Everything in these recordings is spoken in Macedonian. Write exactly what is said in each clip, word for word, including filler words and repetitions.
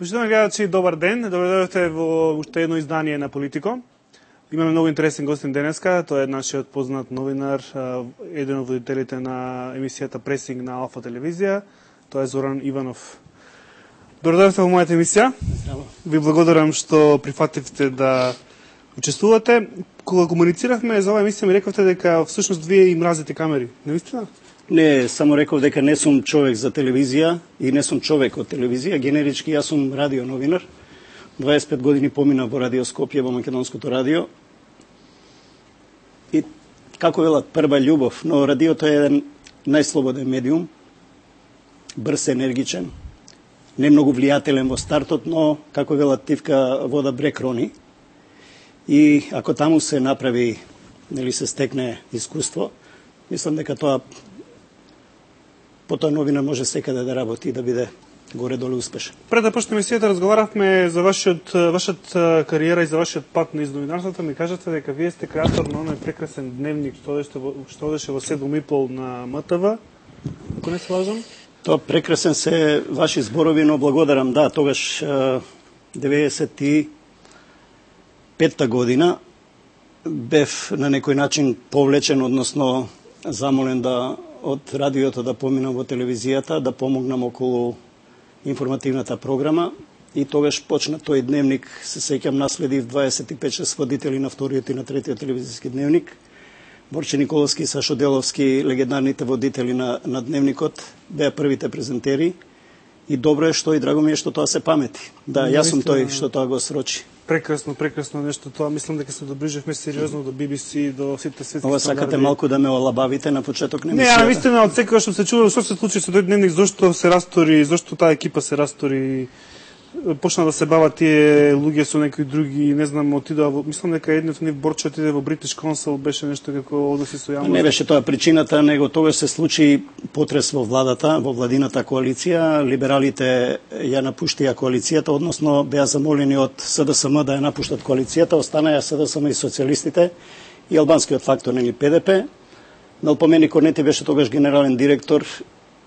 Почитувани гледачи, добар ден. Добре дојдовте во уште едно издание на Политико. Имаме многу интересен гостин денеска. Тој е нашиот познат новинар, еден од водителите на емисијата Пресинг на Алфа телевизија. Тоа е Зоран Иванов. Добре дојдовте во мојата емисија. Ви благодарам што прифативте да учествувате. Кога комунициравме за оваа емисија ми рековте дека всушност вие и мразите камери. Не вистина? Не, само реков дека не сум човек за телевизија и не сум човек од телевизија. Генерички јас сум радио новинар. дваесет и пет години помина во Радио Скопје, во македонското радио. И како велат, прва љубов, но радиото е еден најслободен медиум, брз, енергичен, не многу влијателен во стартот, но како велат тивка вода брег рони. И ако таму се направи, нели се стекне искуство, мислам дека тоа потоа новина може секаде да работи и да биде горе-долу успешен. Пред да почнеме емисијата, разговаравме за вашиот, вашата кариера и за вашиот пат низ новинарството. Ми кажете дека вие сте креатор на оној прекрасен дневник што одеше во, што одеше во седум и пол на М Т В. Ако не се лажам? Тоа прекрасен се ваши зборови, но благодарам. Да, тогаш деветдесет и петта година бев на некој начин повлечен, односно замолен да од радиото да поминам во телевизијата, да помогнам околу информативната програма и тогаш почна тој дневник, се сеќам, наследив дваесет и пет шест водители на вториот и на третиот телевизиски дневник. Борче Николовски и Сашо Деловски, легендарните водители на, на дневникот, беа првите презентери и добро е што и драго ми е што тоа се памети. Да, јас сум тој што тоа го срочи. Прекрасно, прекрасно нешто тоа. Мислам дека се доближивме сериозно до Би Би Си и до сите светски стандарди. Ова сакате малку да ме олабавите на почеток на емисијата? Не, а вистина од секоја што се чува, што се случи со тој дневник, зошто се растори, зошто таа екипа се растори, почна да се бават тие луѓе со некои други, не знам, отидоа во, мислам дека едниот нив Борче отиде во Бритиш Консул, беше нешто како односи со јавност. Не беше тоа причината, него тогаш се случи потрес во владата, во владината коалиција, либералите ја напуштија коалицијата, односно беа замолени од С Д С М да ја напуштат коалицијата, останаја С Д С М и социјалистите и албанскиот фактор, нели П Д П. Мелпомени Корнети беше тогаш генерален директор.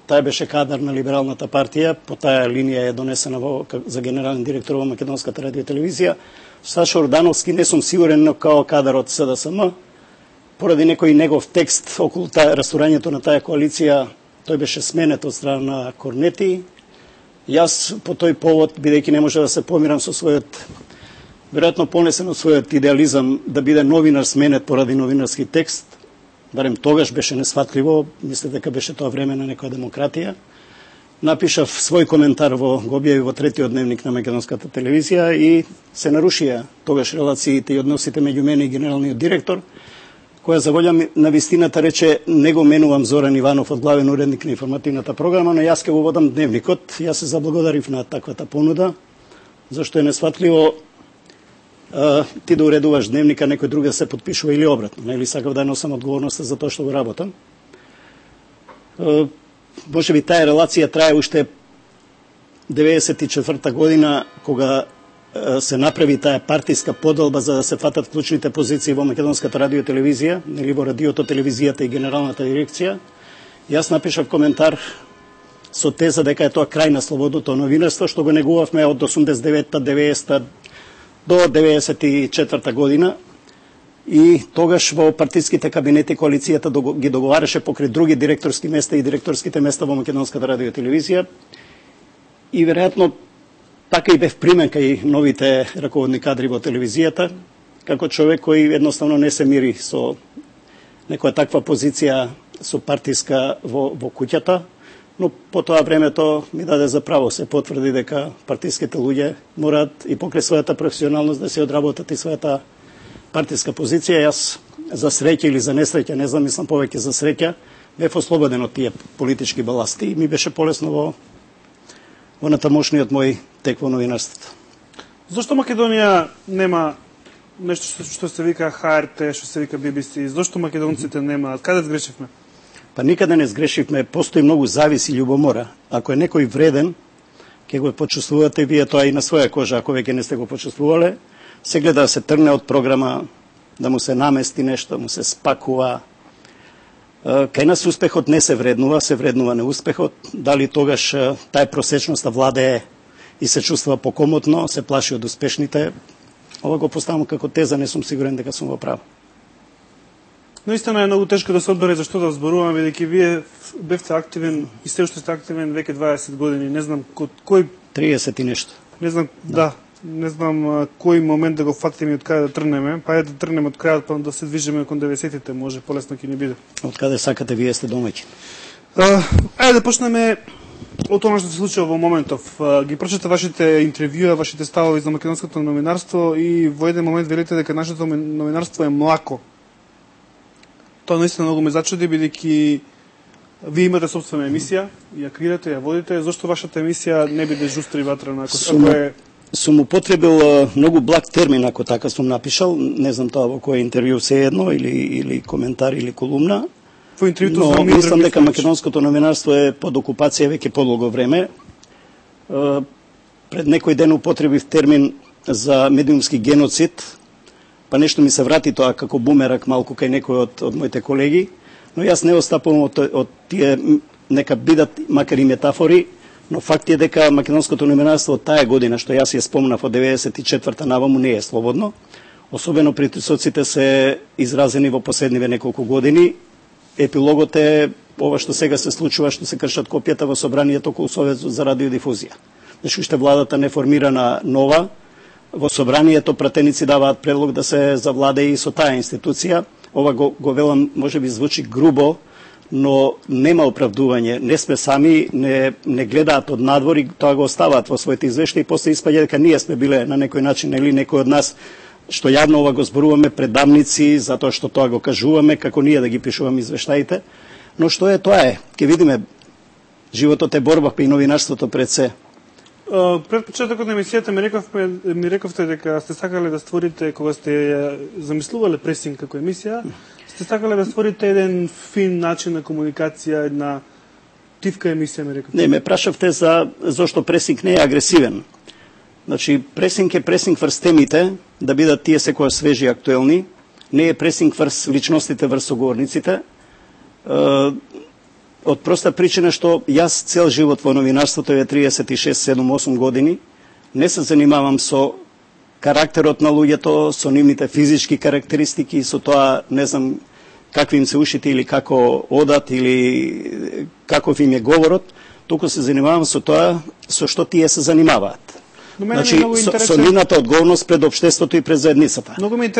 Тај беше кадар на либералната партија, по таа линија е донесена во, за генерален директор во Македонската радио телевизија. Сашо Ордановски не сум сигурен, но као кадар од С Д С М, поради некој негов текст околу таа расторањето на таа коалиција, тој беше сменет од страна на Корнети. Јас по тој повод, бидејќи не може да се помирам со својот, веројатно понесен од својот идеализам да биде новинар сменет поради новинарски текст, барем тогаш беше несфатливо, мисле дека беше тоа време на некоја демократија. Напишав свој коментар во го објави во третиот дневник на Македонската телевизија и се нарушија тогаш релациите и односите меѓу мене и генералниот директор, која за волја на вистината рече не го менувам Зоран Иванов од главен уредник на информативната програма, но јас ќе го водам дневникот. Јас се заблагодарив на таквата понуда, зашто е несфатливо ти да уредуваш дневника, некој друг да се подпишува или обратно, нели сакав да носам одговорноста за тоа што го работам. Може би таа релација трае уште деветдесет и четврта година, кога се направи таа партиска поделба за да се фатат клучните позиции во Македонската радио телевизија, нели во радиото, телевизијата и генералната дирекција. Јас напишав коментар со теза дека е тоа крај на слободното новинарство, што го негувавме од осумдесет и девета деветдесета до деветдесет и четврта година и тогаш во партиските кабинети коалицијата ги договараше покрај други директорски места и директорските места во Македонската радио телевизија и веројатно така и бев примен кај новите раководни кадри во телевизијата, како човек кој едноставно не се мири со некоја таква позиција со партиска во, во куќата, но по тоа времето ми даде за право, се потврди дека партиските луѓе мораат и покрај својата професионалност да се одработат и својата партиска позиција. Јас за среќа или за несреќа, не знам, мислам повеќе за среќа, бев ослободен од тие политички баласти и ми беше полесно во, во натамошниот мој тек во новинарството. Зошто Македонија нема нешто што, што се вика Х Р Т, што се вика Би Би Си? Зошто македонците нема? Каде сгрешивме? Па никаде не сгрешивме, постои многу завис и љубомора. Ако е некој вреден, ќе го почувствувате вие тоа и на своја кожа, ако веќе не сте го почувствувале. Се гледа да се трне од програма, да му се намести нешто, му се спакува. Кај нас успехот не се вреднува, се вреднува неуспехот. Дали тогаш таа просечноста владее и се чувствува покомотно, се плаши од успешните. Ова го поставам како теза, не сум сигурен дека сум во право. Наистина е многу тешко да се одбере зашто да зборуваме, бидејќи вие бевте активен и се уште сте активен веќе дваесет години. Не знам кој триесет и нешто. Не знам, да, да не знам а, кој момент да го фатиме и од каде да тргнеме. Па е да тргнеме од крајот, па да се движиме кон деветдесетите, може полесно ќе ни биде. Од каде сакате, вие сте домаќин. Ајде да почнеме од тоа што се случува во моментов. А, ги прочета вашите интервјуа, вашите ставови за македонското новинарство и во еден момент велите дека нашето новинарство е млако. Тоа наистина многу ме зачуди, бидејќи вие имате собствена емисија, ја креирате, ја водите. Зошто вашата емисија не биде жустра и ватрена? Ако, сум, ако е... сум употребил многу благ термин, ако така сум напишал. Не знам тоа во кој интервју се едно, или, или коментар, или колумна. Во интервјуто но за мислам дека македонското новинарство е под окупација веќе подолго време. Пред некој ден употребив термин за медиумски геноцид, па нешто ми се врати тоа како бумерак малку кај некој од, од моите колеги, но јас не остапувам од, од тие, нека бидат макар и метафори, но факт е дека македонското новинарство од таа година, што јас ја спомнав од деветдесет и четврта наваму, не е слободно. Особено притисоците се изразени во последниве неколку години. Епилогот е ова што сега се случува, што се кршат копијата во собранието околу Советот за радиодифузија. Значи уште владата не формирана нова, во собранието пратеници даваат предлог да се завладее и со таа институција. Ова го, го велам, може би звучи грубо, но нема оправдување. Не сме сами, не, не гледаат од надвор и тоа го оставаат во своите извештаи и после испаѓа дека ние сме биле на некој начин или некој од нас што јавно ова го зборуваме пред дамници, затоа што тоа го кажуваме, како ние да ги пишуваме извештаите. Но што е, тоа е. Ке видиме, животот е борба, па и новинарството пред се. Пред почетокот на емисијата ми рековме, ми рековте дека сте сакале да створите, кога сте ја замислувале пресинг како емисија, сте сакале да створите еден фин начин на комуникација, една тивка емисија, ми рековте. Не, ме прашавте за зошто пресинг не е агресивен. Значи, пресинг е пресинг врз темите, да бидат тие секоја свежи и актуелни, не е пресинг врз личностите, врз соговорниците. Од проста причина што јас цел живот во новинарството е триесет и шест, седум, осум години, не се занимавам со карактерот на луѓето, со нивните физички карактеристики, со тоа, не знам, какви им се ушите или како одат или каков им е говорот, туку се занимавам со тоа со што тие се занимаваат. Значи, со, со нивната одговорност пред општеството и пред заедницата.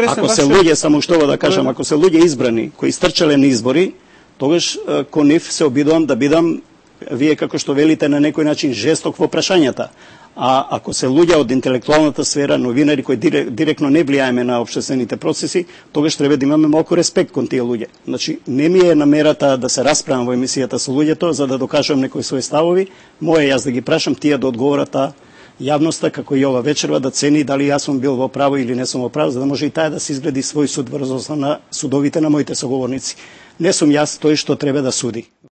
Ако се луѓе, само што да кажам, ако се луѓе избрани, кои стрчале на избори, тогаш кон нив се обидувам да бидам, вие како што велите, на некој начин жесток во прашањата. А ако се луѓе од интелектуалната сфера, новинари кои директно не влијаеме на општествените процеси, тогаш треба да имаме малку респект кон тие луѓе. Значи, не ми е намерата да се расправам во емисијата со луѓето за да докажам некои своји ставови, моје јас да ги прашам, тие да одговорат јавноста, како и ова вечерва, да цени дали јас сум бил во право или не сум во право, за да може и таа да се изгледи свој суд врз основа на судовите на моите соговорници. Не сум јас тој што треба да суди.